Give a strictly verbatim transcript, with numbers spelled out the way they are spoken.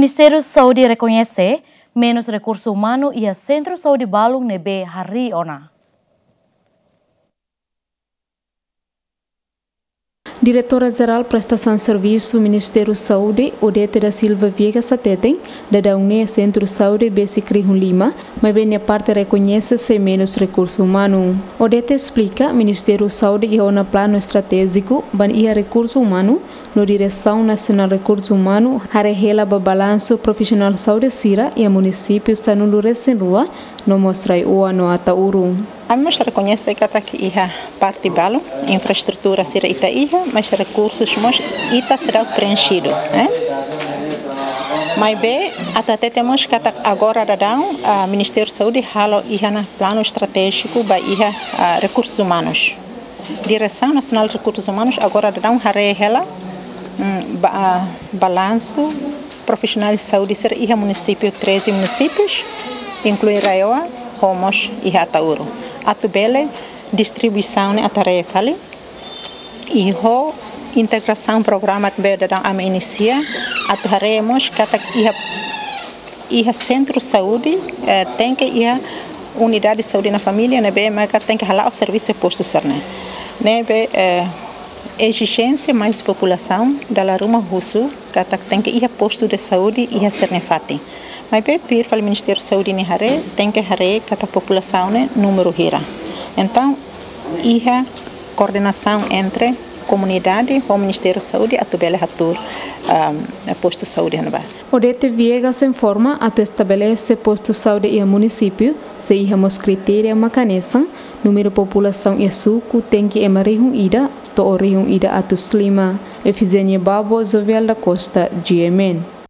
Ministériu Saúde rekoñese menus rekursu umanu iha sentru saúde balun ne'ebé harii ona. Diretora Jerál Prestasaun Servisu Ministériu Saúde, Odete da Silva Viegas hateten, daudaun ne'e sentru saúde besik rihun lima, maibé nia parte rekoñese sei menus rekursu umanu. Odete esplika, Ministériu Saúde iha ona planu estratéjiku ba iha rekursu umanu, no Diresaun Nasionál Rekursu Umanu haree hela ba balansu profisionál saúde sira iha munisípiu sanulu-resin-rua, no mós RAEOA no Ataúro. Ami mós rekoñese katak iha parte balun, infraestrutura sira ita iha, mas rekursus mós ita seidauk preenxidu, eh? Maibé, atu hatete mós katak agora daudaun, ah, Ministériu Saúde halo iha ona planu estratéjiku ba iha, ah, rekursus umanus. Diresaun Nasionál Rekursus Umanus agora daudaun haree hela, mm, ba-, ah, balansu profisionál saúde sira iha munisípiu, treze munisípius, inklui RAEOA, ho mós iha Ataúro. Atu bele distribuisaun ne'e atu haree fali, i ho integrasaun programa ne'ebé daudaun ami inisia, atu haree mós katak iha, iha sentru saúde, eh, tenke iha unidade saúde na família, ne'ebé maka tenke hala'o servisu postu sira-ne'e. Ne'ebé, eh, ezijénsia mai husi populasaun, dala ruma husu, katak tenke iha postu de saúde iha sira-nia fatin. Maibé tuir fali Ministériu Saúde nia haree, tenke haree katak populasaun ne'e númeru hira. Entaun, iha koordenasaun entre komunidade ho Ministériu Saúde atu bele hatuur, ahm, postu saúde iha ne'ebá. Odete Viegas informa atu estabelese postu saúde iha munisípiu, sei iha mós kritéria mak hanesan, númeru populasaun iha suku tenke ema rihun ida, to'o rihun ida atus lima. Efigénia Babo, Jovial da Costa, G M N.